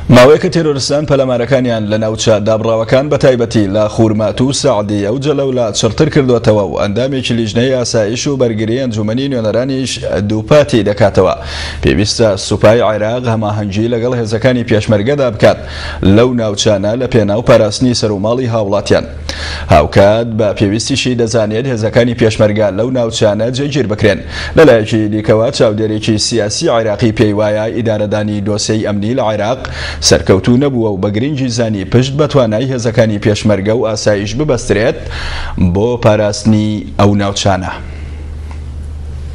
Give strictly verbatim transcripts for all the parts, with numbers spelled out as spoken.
ماوەیەکە تێرۆرستان پەلامارەکانیان لە ناوچە دابڕاوەکان بە تایبەتی لە خورماتوو و سەعدیە و جەلەولا چڕتر کردوێتەوە و ئەندامێکی لیژنەی ئاسایش و بەرگری ئەنجومەنی نوێنەرانیش دووپاتی دەکاتەوە. پێویستە سوپای عێراق هەماهەنگی لەگەڵ هێزەکانی پێشمەرگەدا بکات لەو ناوچانە لە پێناو پاراستنی سەروماڵی هاوڵاتیان. هاوکات بە پێویستیشی دەزانێت هێزەکانی پێشمەرگە لەو ناوچانە جێگیر بکرێن. لەلایەکی دیکەوە چاودێرێکی سیاسی عێراقی پێی وایە ئیدارەدانی دۆسێی ئەمنی لە عێراق سەرکەوتوو نەبووە و بە گرنگی زانی پشت بە توانای هێزەکانی پێشمەرگە و ئاسایش ببەسترێت بۆ پاراستنی ئەو ناوچانە.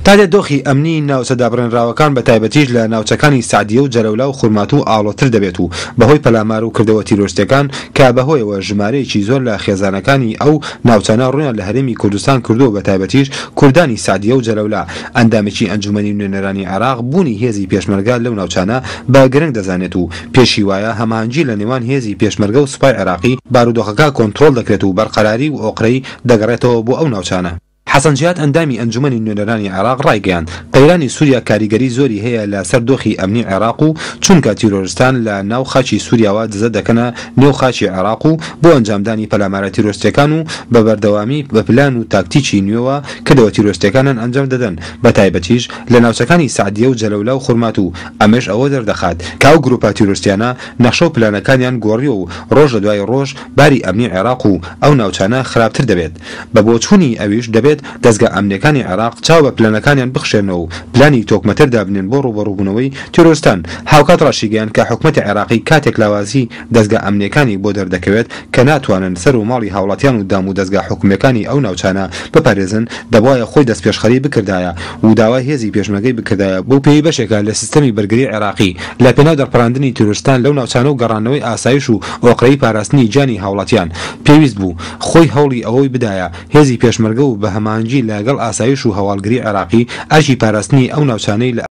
تا دێت دۆخی ئەمنی ناوچە دابڕێنراوەکان بە تایبەتیش لە ناوچەکانی سەعدیە و جەلەولا و خورماتوو ئاڵۆتر دەبێت و بەهۆی پەلامار و کردەوە تیرۆرستیەکان کە بەهۆیەوە ژمارەیەکی زۆر لە خێزانەکانی ئەو ناوچانە ڕوویان لە هەرێمی کوردستان کردووە بە تایبەتیش کوردانی سەعدیە و جەلەولا. ئەندامێکی ئەنجومەنی نوێنەرانی عێراق بوونی هێزی پێشمەرگە لەو ناوچانە بە گرنگ دەزانێت و پێشی وایە هەماهەنگی لە نێوان هێزی پێشمەرگە و سوپای عێراقی بارودۆخەکە کۆنترۆڵ دەکرێت و بەرقەراری و ئۆقرەی دەگەڕێتەوە بۆ ئەو ناوچانە. حەسەن جیهاد ئەندامی ئەنجومەنی نوێنەرانی عێراق ڕایگەیاند، قەیرانی سوریا کاریگەری زۆری هەیە لە سەر دۆخی ئەمنی عێراق و چونکە تیرۆرستان لە ناو خاکی سوریاوە دزە دەکەنە نێو خاکی عێراق و بۆ ئەنجامدانی پەلامارە تیرۆرستیەکان و بە بەردەوامی بە پلان و تاکتیکی نوێوە کردەوە تیرۆرستیەکانیان ئەنجام دەدەن بە تایبەتیش لە ناوچەکانی سەعدیە و جەلەولا و خورماتوو ئەمەش ئەوە دەردەخات کە ئەو گروپە تیرۆرستیانە نەخشە و پلانەکانیان گۆڕیوە و ڕۆژ لە دوای ڕۆژ باری ئەمنی عێراق و ئەو ناوچانە خراپتر دەبێت. بە بۆچوونی ئەویش دەبێت دەزگا ئەمنیەکانی عێراق چاو بە پلانەکانیان بخشێنەوە و پلانی تۆکمەتر دابنێن بۆ ڕووبەڕووبوونەوەی تیرۆرستان. هاوکات ڕاشیگەیاند کە حکومەتی عێراقی کاتێک لاوازی دەزگا ئەمنیەکانی بۆ دەردەکەوێت کە ناتوانن سەر و ماڵی هاوڵاتیان و دام و دەزگا حکومیەکانی ئەو ناوچانە بپارێزن دەبوایە خۆی دەستپێشخەری بکردایە و داوای هێزی پێشمەرگەی بکردایە بەو پێیەی بەشێکە لە سیستەمی بەرگری عێراقی لە پێناو دەرپەڕاندنی تیرۆرستان لەو ناوچانە و گەڕاندنەوەی ئاسایش و ئۆقرەیی پاراستنی گیانی هاوڵاتیان پێویست بوو خۆی هەوڵی ئەوەی بدایە هێزی پێشمەرگە و بە هەماهەنگی لە گەڵ ئاسایش و هەواڵگری عێراقی ئەرکی پاراستنی ئەو ناوچانەی لە